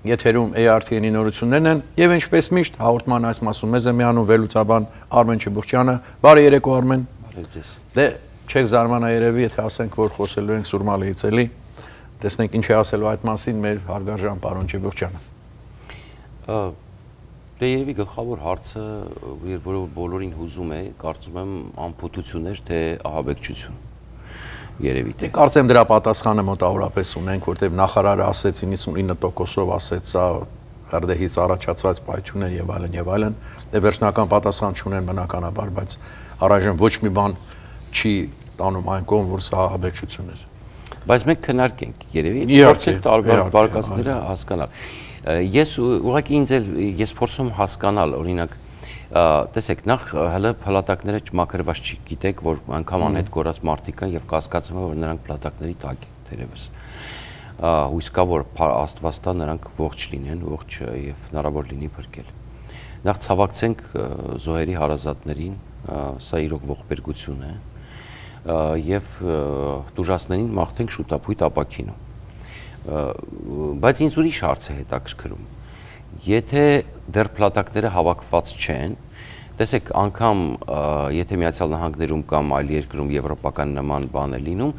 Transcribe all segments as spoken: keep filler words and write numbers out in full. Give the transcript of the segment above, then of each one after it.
Եթերում A R T N-ի նորություններն են եւ ինչպես միշտ հաղորդման այս մասում մեզ է միանում վերլուծաբան Արմեն Չբուխչյանը։ Բարի երեկո Արմեն։ Բարի ձեզ։ Դե չեք զարմանա երևի, եթե ասենք, որ խոսելու ենք Սուրմալիից էլի։ Տեսնենք ինչ է ասելու այդ մասին մեր հարգարժան պարոն Չբուխչյանը։ Դե երևի գլխավոր հարցը, որը բոլորին հուզում է, կարծում եմ անփութություններ, թե ահաբեկչություն։ Երևի թե կարծեմ դրա պատասխանը մոտավորապես ունենք, որտեղ նախարարը ասեց իննսունինը տոկոսով ասեց սա հրդեհից առաջացած պայթյուն է եւ այլն եւ այլն, դե վերջնական պատասխան չունեն բնականաբար, բայց առայժմ ոչ մի բան չի տանում այն կողմ, որ սա ահաբեկչություն է։ Բայց մենք քննարկենք երևի, փորձենք տարբեր բարգացները հասկանալ։ Ես ուղղակի ինձ էլ ես փորձում հասկանալ, օրինակ տեսեք, նախ հələ փլատակները մաքրված չի, գիտեք, որ անգամ անհետ կորած մարդիկ կան եւ կասկածում եմ, որ նրանք փլատակների տակ են, թերևս։ Հույս կա, որ Աստված տա նրանք ողջ լինեն, ողջ եւ հնարավոր լինի փրկել։ Նախ ցավակցենք զոհերի հարազատներին, սա իրոք ողբերգություն է, եւ տուժածներին մաղթենք շուտապույտ ապաքինու։ Բայց ինձ ուրիշ հարց է հետաքրքրում։ Եթե դեռ փլատակները հավաքված չեն, տեսեք, անգամ եթե Միացյալ Նահանգներում կամ այլ երկրում եվրոպական նման բան է լինում,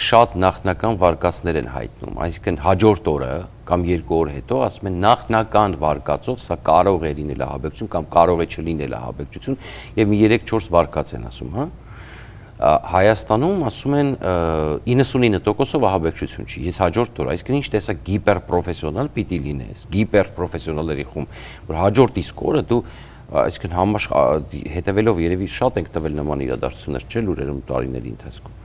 շատ նախնական վարկածներ են հայտնում, այսինքն հաջորդ օրը կամ երկու օր հետո ասում են նախնական վարկածով սա կարող է լինել ահաբեկչություն կամ կարող է չլինել ահաբեկչություն եւ մի երեք-չորս վարկած են ասում, հա։ Հայաստանում ասում են իննսունինը տոկոսով ահաբեկչություն չի, ես հաջորդ օր, այսինքն ինչ տեսակ գիպերպրոֆեսիոնալ պիտի լինես, գիպերպրոֆեսիոնալների խումբ, որ հաջորդ իսկ օրը դու, այսինքն համաշխ հետևելով երևի շատ ենք տվել նման իրադարձություններ, չէ՞ լուրերում տարիների ընթացքում։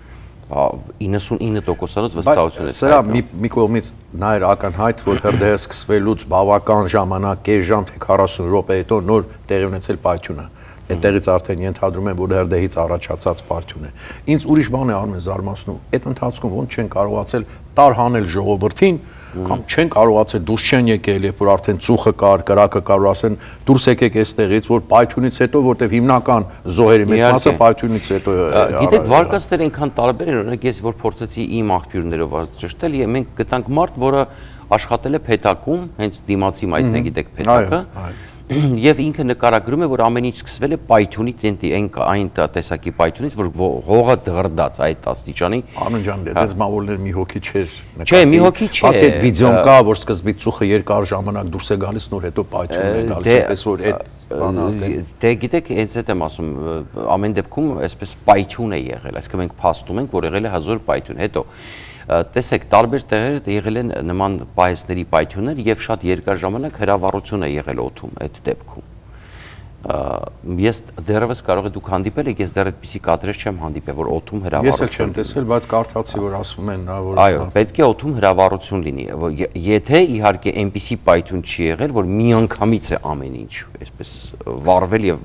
իննսունինը տոկոսանոց վստահություն է։ Սրա մի կողմից նա էր ակնհայտ, որ հրդեհը սկսվելուց բավական ժամանակ, կես ժամ թե քառասուն րոպե հետո նոր տեղի ունեցել պայթյունը։ Այդտեղից արդեն ենթադրում եմ, որ հրդեհից առաջացած պայթյուն է։ Ինձ ուրիշ բան է Արմեն զարմացնում, այդ ընթացքում ոնց չեն կարողացել տարհանել ժողովրդին, կամ չեն կարողացել դուրս չեն եկել, երբ որ արդեն ծուխը կար, կրակը կար, որ ասեն դուրս եկեք այստեղից, որ պայթյունից հետո, որտեղ հիմնական զոհերի մեծ մասը պայթյունից հետո է։ Գիտեք, վարկածները այնքան տարբեր են, օրինակ ես որ փորձեցի իմ աղբյուրներով ճշտել, եւ մենք գտանք մարդ, որը աշխատել է Փեթակում, հենց դիմացի մայթն է, գիտեք, Փեթակը։ Եվ ինքը նկարագրում է, որ ամեն ինչ սկսվել է պայթյունից, այն տեսակի պայթյունից, որ հողը դղրդաց այդ աստիճանի։ Արմեն ջան, դες մավորներ մի հոգի չէր նկատի։ Չէ, մի հոգի չէ։ Բացի այդ վիդեոն կա, որ սկզբից ծուխը երկար ժամանակ դուրս է գալիս, նոր հետո պայթյուն է գալիս, այնպես որ այդ բանը։ Դե գիտեք, հենց այդ եմ ասում, ամեն դեպքում այսպես պայթյուն է եղել, այսինքն մենք փաստում ենք, որ եղել է հազար պայթյուն, հետո տեսեք, տարբեր տեղեր եղել են նման պահեսների պայթյուններ եւ շատ երկար ժամանակ հրավառություն է եղել օդում այդ դեպքում։ Ես դեռևս կարող եք դուք հանդիպել եք, ես դեռ այդպիսի կադրեր չեմ հանդիպել, որ օդում հրավառություն։ Ես էլ չեմ տեսել, բայց կարդացի, որ ասում են, որ այո, պետք է օդում հրավառություն լինի։ Եթե իհարկե այնպիսի պայթյուն չի եղել, որ միանգամից է ամեն ինչ այսպես վառվել եւ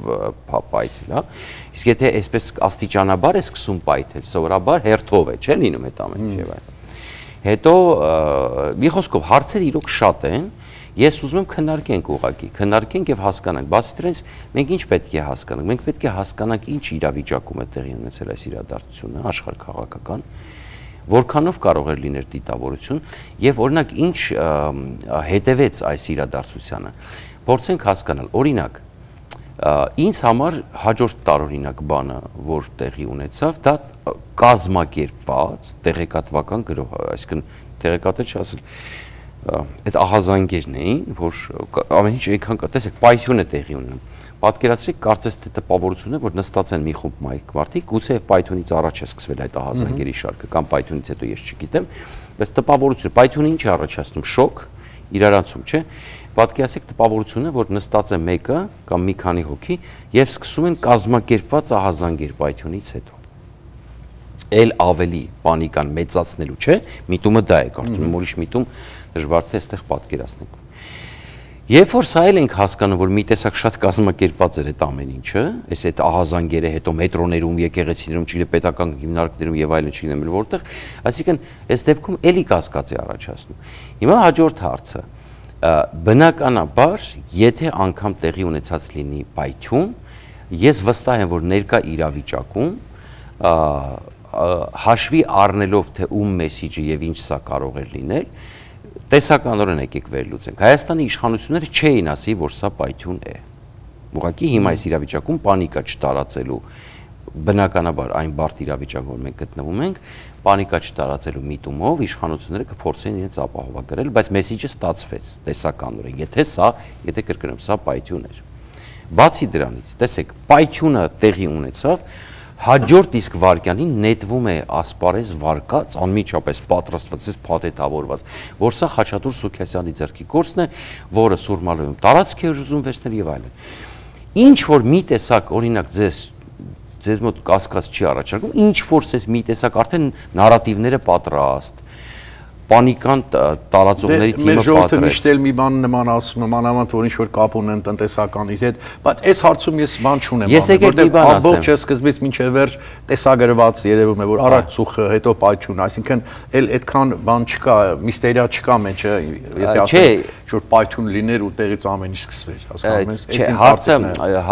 պայթել, հա։ Իսկ եթե այսպես աստիճանաբար է սկսում պայթել, սովորաբար հերթով է, չէ՞ լինում այդ ամեն ինչ եւ այլն։ Հետո մի խոսքով հարցերը իրոք շատ են, ես ուզում եմ քննարկենք ուղղակի, քննարկենք եւ հասկանանք, բացի դրանից մենք ինչ պետք է հասկանանք, մենք պետք է հասկանանք ինչ իրավիճակում է տեղի ունեցել այս իրադարձությունը, աշխարհքաղաքական, որքանով կարող էր լինել դիտավորություն եւ օրինակ ինչ հետևեց այս իրադարձությանը։ Փորձենք հասկանալ, օրինակ ինձ համար հաջորդ տարօրինակ բանը, որ տեղի ունեցավ, դա կազմակերպված տեղեկատվական գրոհ, այսինքն տեղեկատվը չի ասել, այդ ահազանգերն էին, որ ամեն ինչ այնքան կա, տեսեք, պայթյուն է տեղի ունենում։ Պատկերացրեք, կարծես թե տպավորություն է, որ նստած են մի խումբ մարդիկ, գուցե եւ պայթյունից առաջ է սկսվել այդ ահազանգերի շարքը, կամ պայթյունից հետո ես չգիտեմ, բայց տպավորություն, պայթյունը ինչ է առաջացնում, շոկ, իրարանցում, չէ՞։ Պատկերացրեք տպավորությունը, որ նստած է մեկը կամ մի քանի հոգի եւ սկսում են կազմակերպված ահազանգեր պայթյունից հետո։ Էլ ավելի պանիկան մեծացնելու, չէ՞, միտումը դա է, կարծում եմ, ուրիշ միտում դժվար թե այստեղ պատկերացնենք։ Երբ որ սա էլ ենք հասկանում, որ մի տեսակ շատ կազմակերպված էր այդ ամեն ինչը, այս այդ ահազանգերը հետո մետրոներում, եկեղեցիներում, չգիտեմ, պետական հիմնարկներում եւ այլն չգիտեմ որտեղ, այսինքն այս դեպքում էլի կասկած է առաջացնում։ Հիմա հաջորդ հարցը բնականաբար, եթե անգամ տեղի ունեցած լինի պայթյուն, ես վստահ եմ, որ ներկա իրավիճակում հաշվի առնելով թե ում մեսիջը եւ ինչ սա կարող է լինել, տեսականորեն եկեք վերլուծենք։ Հայաստանի իշխանությունները չէին ասի, որ սա պայթյուն է։ Ուղղակի հիմա այս իրավիճակում պանիկա չտարածելու, բնականաբար այն բարդ իրավիճակում, որ մենք գտնվում ենք, պանիկա չտարածելու միտումով իշխանությունները կփորձեն իրենց ապահովագրել, բայց մեսիջը ստացվեց տեսականորեն։ Եթե սա, եթե կրկնեմ, սա պայթյուն էր։ Բացի դրանից, տեսեք, պայթյունը տեղի ունեցավ, հաջորդ իսկ վարկյանին նետվում է ասպարեզ վարկած, անմիջապես պատրաստված, փաթեթավորված, որ սա Խաչատուր Սուքիասյանի ձեռքի գործն է, որը Սուրմալոյում տարածք է ուզում վերցնել եւ այլն։ Ինչ որ մի տեսակ, օրինակ, ձեզ ձեզ մոտ կասկած չի առաջարկում, ինչ որ ցես մի տեսակ արդեն նարատիվները պատրաստ, պանիկան տարածողների թիմը պատրաստ։ Մեր ժողովուրդը միշտ էլ մի բան նման ասում, մանավանդ որ ինչ որ կապ ունեն տնտեսականի հետ, բայց այս հարցում ես բան չունեմ, որտեղ ամբողջ սկզբից մինչև վերջ տեսագրված երևում է, որ առաջուխը, հետո պայթյուն, այսինքն էլ այդքան բան չկա, միստերիա չկա մեջը, եթե ասենք որ պայթյուն լիներ ու տեղից ամեն ինչ սկսվեր, հասկանում ես, այս հարցը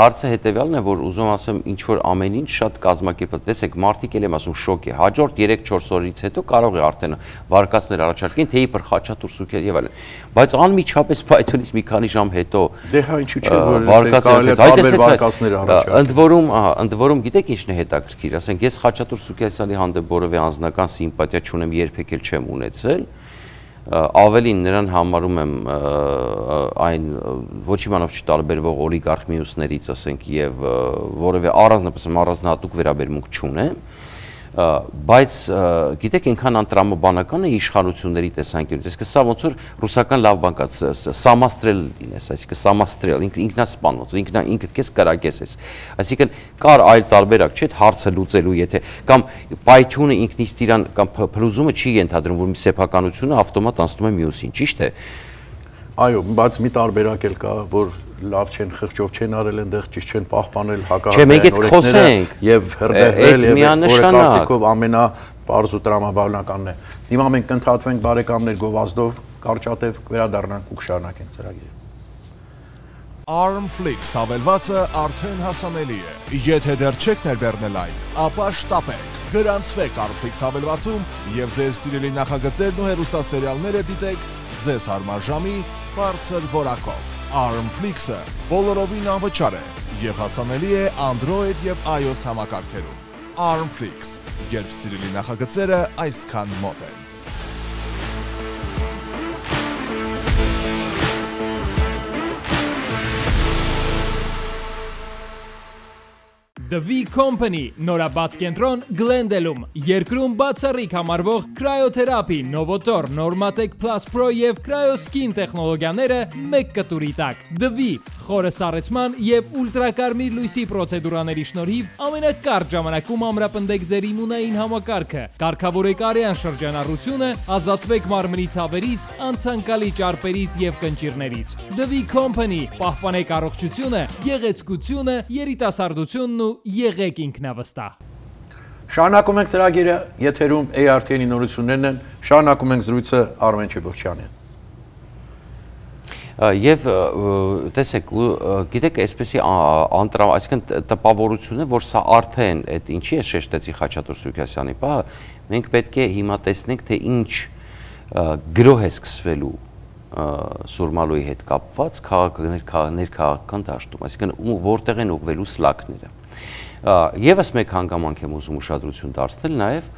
հարցը հետեւյալն է, որ ուզում ասեմ, ինչ որ ամեն ինչ շատ կազմակերպված, տեսեք, մարդիկ էլ եմ ասում շոկ է, հաջորդ երեք-չորս օրից հետո կարող է արդեն վարկածներ առաջարկեն, թե իբր Խաչատուր Սուքիասյան եւ այլն, բայց անմիջապես պայթյունից մի քանի ժամ հետո դե հա ինչու՞ չէ, որ կարելի է տարբեր վարկածներ առաջարկել։ Ընդ որում, ահա, ընդ որում գիտեք ինչն է հետաքրքիր, ասենք ես Խաչատուր Սուքիասյանի հանդեպ որևէ անձնական սիմպաթիա չունեմ, երբեք էլ չեմ ունեցել, ավելին նրան համարում եմ այն ոչ իմանով չտարբերվող օլիգարխ մյուսներից, ասենք, եւ որևէ առանձնապես առանձնահատուկ վերաբերմունք չունեմ, բայց գիտեք այնքան անտրամաբանական է իշխանությունների տեսանկյունից, այսինքն սա ոնց որ ռուսական լավ բան կա, սամաստրել լինես, այսինքն սամաստրել, ինքնասպան, ինքնա ինքդ քեզ կրակես ես, այսինքն կար այլ տարբերակ, չէ՞, հարցը լուծելու, եթե կամ պայթյունը ինքնից իրան կամ փլուզումը չի ենթադրում, որ մի սեփականությունը ավտոմատ անցնում է մյուսին, ճիշտ է։ Այո, բայց մի տարբերակ էլ կա, որ լավ չեն խղճով չեն արել այնտեղ, ճիշտ չեն պահպանել հակառակորդ օրենքները եւ հրդեհվել եւ օրեկարգով ամենապարզ ու տրամաբանականն է։ Հիմա մենք կընդհատվենք բարեկամներ գովազդով, կարճատև վերադառնանք ու կշարունակենք ծրագիրը։ Armflix հավելվածը արդեն հասանելի է։ Եթե դեռ չեք ներբեռնել այն, ապա շտապեք։ Գրանցվեք Armflix հավելվածում եւ ձեր սիրելի նախագծերն ու հեռուստասերիալները դիտեք ձեզ հարմար ժամի բարձր որակով։ Armflix-ը բոլորովին անվճար է եւ հասանելի է Android եւ iOS համակարգերում։ Armflix, երբ սիրելի նախագծերը այսքան մոտ են։ The V Company, նորաբաց կենտրոն Գլենդելում, երկրում բացառիկ համարվող Cryotherapi, Novotor, Normatec Plus Pro եւ Cryoskin տեխնոլոգիաները մեկ կտուրի տակ։ The V, խորը սառեցման եւ ուլտրակարմիր լույսի պրոցեդուրաների շնորհիվ ամենակարճ ժամանակում ամրապնդեք ձեր իմունային համակարգը, կարգավորեք արյան շրջանառությունը, ազատվեք մարմնի ցավերից, անցանկալի ճարպերից եւ կնճիռներից։ The V Company, պահպանեք առողջությունը, գեղեցկությունը, երիտասարդությունն ու եղեք ինքնավստահ։ Շարունակում ենք ծրագիրը, եթերում A R T N-ի նորություններն են, շարունակում ենք զրույցը Արմեն Չեբոխչյանին։ Եվ տեսեք, գիտեք, այսպեսի անտրամ, այսինքն տպավորությունը, որ սա արդեն այդ ինչի է շեշտեցի Խաչատուր Սուքիասյանի պահը, մենք պետք է հիմա տեսնենք, թե ինչ գրոհ է սկսվելու Սուրմալոյի հետ կապված ներքաղաքական դաշտում, այսինքն որտեղ են ուղղվելու սլաքները։ Եվս մեկ հանգամանք եմ ուզում ուշադրություն դարձնել, նաև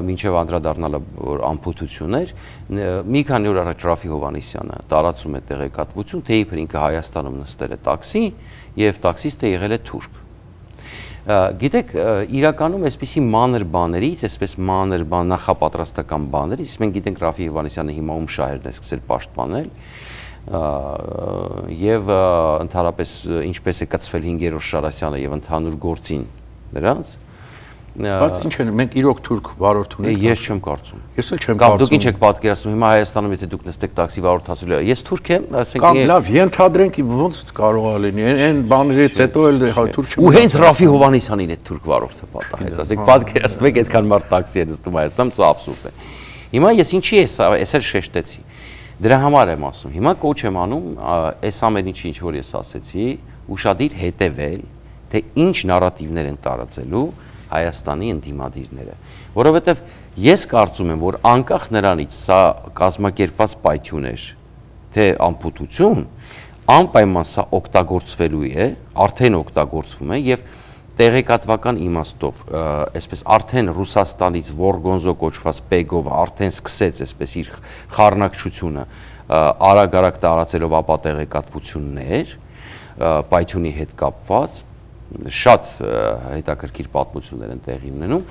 մինչև անդրադառնալը որ անփութություններ, մի քանի օր առաջ Ռաֆի Հովհաննիսյանը տարածում է տեղեկատվություն, թե իբր ինքը Հայաստանում նստել է տաքսի եւ տաքսիստը եղել է թուրք։ Գիտեք, իրականում այսպիսի մանր բաներից, այսպես մանր բան նախապատրաստական բաներից, մենք գիտենք Ռաֆի Հովհաննիսյանը հիմա ում շահերն է սկսել պաշտպանել եւ ընդհանրապես ինչպես է կծվել հինգերորդ Շարասյանը եւ ընդհանուր գործին նրանց։ Բայց ինչ են, մենք իրոք թուրք վարորդ ունենք։ Ես չեմ կարծում։ Ես էլ չեմ կարծում։ Կամ դուք ինչ կարծում։ եք պատկերացնում, հիմա Հայաստանում եթե դուք նստեք տաքսի վարորդ ասելու, ես թուրք եմ, ասենք։ Կամ լավ, ենթադրենք ոնց կարող է լինի, այն բաներից հետո էլ թուրք չեմ։ Ու հենց Ռաֆի Հովհաննիսյանին է թուրք վարորդը պատահեց, ասենք պատկերացնեք այդքան մարդ տաքսի է նստում Հայաստանում, սա աբսուրդ է։ Հիմա ես ինչի է սա, ես էլ շեշտեցի։ Դրա համար եմ ասում, հիմա կոչ եմ անում այս ամեն ինչի ինչ որ ես ասեցի, ուշադիր հետևել, թե ինչ նարատիվներ են տարածելու Հայաստանի ընդդիմադիրները, որովհետև Ես կարծում եմ, որ անկախ նրանից սա կազմակերպված պայթյուն էր, թե ամփոփություն, անպայման սա օգտագործվելու է, արդեն օգտագործվում է եւ տեղեկատվական իմաստով, այսպես արդեն Ռուսաստանից Վորգոնզո կոչված Պեգովը արդեն սկսեց այսպես իր խառնակցությունը արագ-արագ տարածելով ապա տեղեկատվություններ պայթյունի հետ կապված, շատ հետաքրքիր պատմություններ են տեղի ունենում,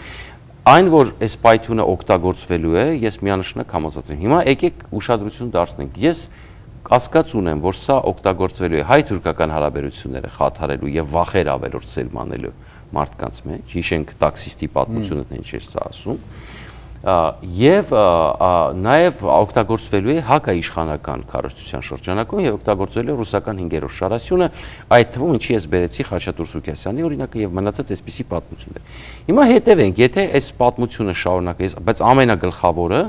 այն որ այս պայթյունը օգտագործվելու է, ես միանշանակ համոզված եմ։ Հիմա եկեք ուշադրություն դարձնենք։ Ես կասկած ունեմ, որ սա օգտագործվելու է հայ-թուրքական հարաբերությունները խաթարելու եւ վախեր ավելորդ սերմանելու մարդկանց մեջ, հիշենք տաքսիստի պատմությունը թե ինչ էր սա ասում, եւ նաեւ օգտագործվելու է հակաիշխանական քարոզչության շրջանակում եւ օգտագործվելու է ռուսական հինգերորդ շարասյունը, այդ թվում ինչի ես բերեցի Խաչատուր Սուքիասյանի օրինակը եւ մնացած այսպիսի պատմություններ։ Հիմա հետևենք, եթե այս պատմությունը շարունակի, բայց ամենագլխավորը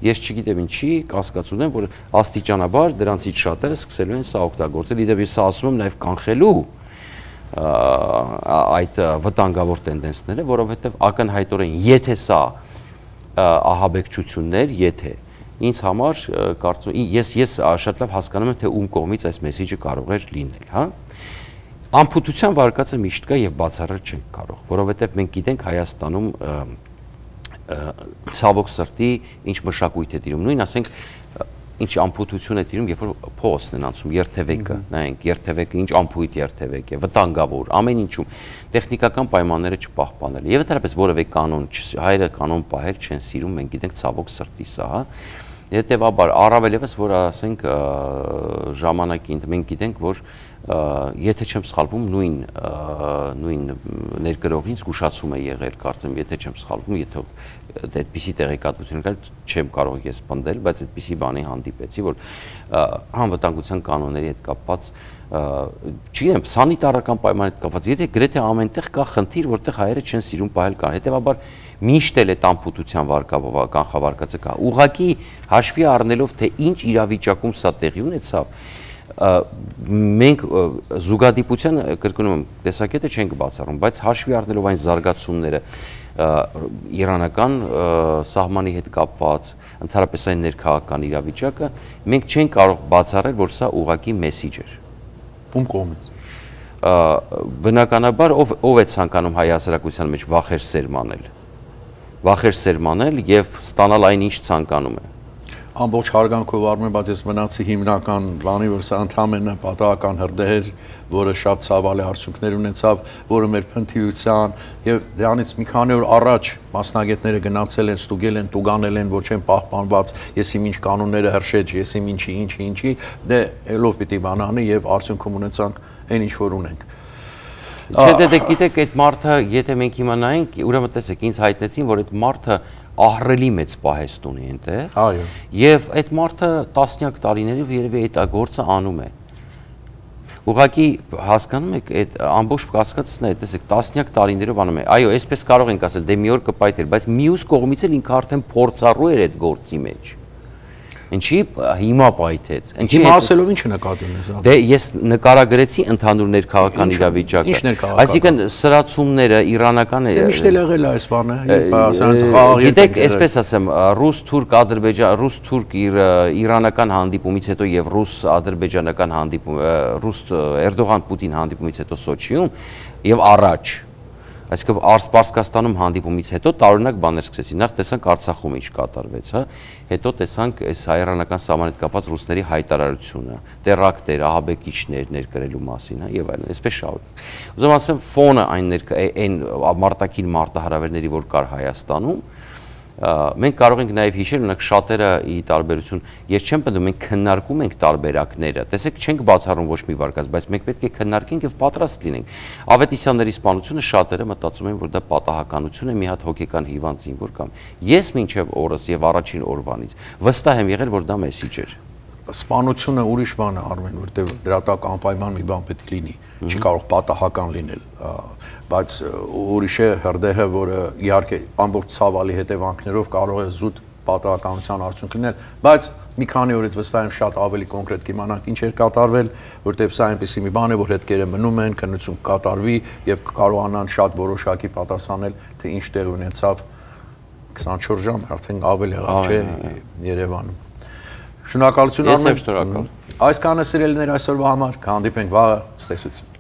ես չգիտեմ ինչի կասկած ունեմ, որ աստիճանաբար դրանցից շատերը սկսելու են սա օգտագործել, իդեպ ես սա ասում եմ նաեւ կանխելու այդ վտանգավոր տենդենսները, որովհետեւ ակնհայտորեն եթե սա ահաբեկչություններ, եթե ինձ համար կարծում ես ես շատ լավ հասկանում եմ թե ում կողմից այս մեսեջը կարող էր լինել, հա։ Ամփոփության վարկածը միշտ կա եւ բացառել չենք կարող, որովհետեւ մենք գիտենք Հայաստանում ցավոք սրտի ինչ մշակույթ է տիրում, նույն ասենք ինչ ամփոփություն է տիրում, երբ որ փողոցն են անցում, երթևեկը, նայենք, երթևեկը ինչ ամփոփիտ երթևեկ է, վտանգավոր, ամեն ինչում տեխնիկական պայմանները չպահպանել։ Եվ դեռպես որևէ կանոն, հայերը կանոն պահել չեն սիրում, մենք գիտենք ցավոք սրտի սա, հա։ Հետևաբար առավել եւս որ ասենք ժամանակին մենք գիտենք որ եթե չեմ սխալվում նույն նույն ներգրողին զգուշացում է եղել կարծեմ եթե չեմ սխալվում եթե այդպիսի տեղեկատվություն կար չեմ կարող ես պնդել բայց այդպիսի բանի հանդիպեցի որ անվտանգության կանոնների հետ կապված չգիտեմ սանիտարական պայմանների հետ կապված եթե գրեթե ամենտեղ կա խնդիր որտեղ հայերը չեն սիրում պահել կան հետեւաբար միշտ էլ այդ ամփոփության վարկաբովական խավարկածը կա ուղղակի հաշվի առնելով թե ինչ իրավիճակում սա տեղի ունեցավ մենք զուգադիպության կրկնում եմ տեսակետը չենք բացառում բայց հաշվի առնելով այն զարգացումները իրանական սահմանի հետ կապված ընդհանրապես այն ներքաղաքական իրավիճակը մենք չենք կարող բացառել որ սա ուղղակի մեսիջ էր ում կողմից բնականաբար ով ով է ցանկանում հայ հասարակության մեջ վախեր սերմանել վախեր սերմանել եւ ստանալ այն ինչ ցանկանում է ամբողջ հարգանքով առնում եմ, բայց ես մնացի հիմնական բանի, որ սա ընդհանրապես պատահական հրդեհ էր, որը շատ ցավալի արդյունքներ ունեցավ, որը մեր փնթիության եւ դրանից մի քանի օր առաջ մասնագետները գնացել են, ստուգել են, տուգանել են, որ չեն պահպանված, ես իմ ինչ կանոնները հրշեջ, ես իմ ինչի, ինչի, ինչի, դե ելով պիտի բանանի եւ արդյունքում ունեցանք այն ինչ որ ունենք։ Չէ, դե դե գիտեք, այդ մարդը, եթե մենք հիմա նայենք, ուրեմն տեսեք, ինձ հայտնեցին, որ այդ մարդը ահռելի մեծ պահեստ ունի այնտեղ։ Այո։ Եվ այդ մարդը տասնյակ տարիներով երևի այդ գործը անում է։ Ուղղակի հասկանում եք, այդ ամբողջ կասկածն է, տեսեք, տասնյակ տարիներով անում է։ Այո, այսպես կարող ենք ասել, դե մի օր կպայթեր, բայց մյուս կողմից էլ ինքը արդեն փորձառու էր այդ գործի մեջ։ Ինչի հիմա պայթեց։ Հիմա ասելով ինչ նկատի ունես։ Դե ես նկարագրեցի ընդհանուր ներքաղաքական իրավիճակը։ Ինչ ներքաղաքական։ Այսինքն սրացումները իրանական Դե միշտ էլ եղել է այս բանը։ Գիտեք, այսպես ասեմ, ռուս-թուրք, ադրբեջան, ռուս-թուրք իրանական հանդիպումից հետո եւ ռուս-ադրբեջանական հանդիպում, ռուս-Էրդողան-Պուտին հանդիպումից հետո Սոչիում եւ առաջ Այսինքն Պարսկաստանում հանդիպումից հետո տարօրինակ բաներ սկսեցին։ Նախ տեսանք Արցախում ինչ կատարվեց, հա։ Հետո տեսանք այս հայ-իրանական սահմանի հետ կապված ռուսների հայտարարությունը, տերակտեր, ահաբեկիչներ ներկրելու մասին, հա, եւ այլն, այսպես շարունակ։ Ուզում ասեմ, ֆոնը այն այն մարտակին մարտահրավերների, որ կար Հայաստանում, մենք կարող ենք նաև հիշել, օրինակ շատերը ի տարբերություն, ես չեմ պնդում, մենք քննարկում ենք տարբերակները, տեսեք, չենք բացառում ոչ մի վարկած, բայց մենք պետք է քննարկենք եւ պատրաստ լինենք։ Ավետիսյանների սպանությունը շատերը մտածում են, որ դա պատահականություն է, մի հատ հոգեկան հիվանդ զինվոր կամ։ Ես մինչև օրս եւ առաջին օրվանից վստահ եմ եղել, որ դա մեսիջ էր։ Սպանությունը ուրիշ բան է Արմեն, որտեղ դրատակ անպայման մի բան պետք է լինի, չի կարող պատահական լինել, բայց ուրիշ է հրդեհը, որը իհարկե ամբողջ ցավալի հետևանքներով կարող է զուտ պատահականության արդյունք լինել, բայց մի քանի օրից վստահ եմ շատ ավելի կոնկրետ կիմանանք ինչ էր կատարվել, որտեղ սա այնպեսի մի բան է, որ հետքերը մնում են, քննություն կատարվի եւ կարողանան շատ որոշակի պատասխանել, թե ինչ տեղ ունեցավ քսանչորս ժամ արդեն ավել եղավ չէ Երևանում։ Շնորհակալություն Ես եմ շնորհակալ։ Այսքանը սիրելիներ այսօրվա համար, կհանդիպենք վաղը, ցտեսություն։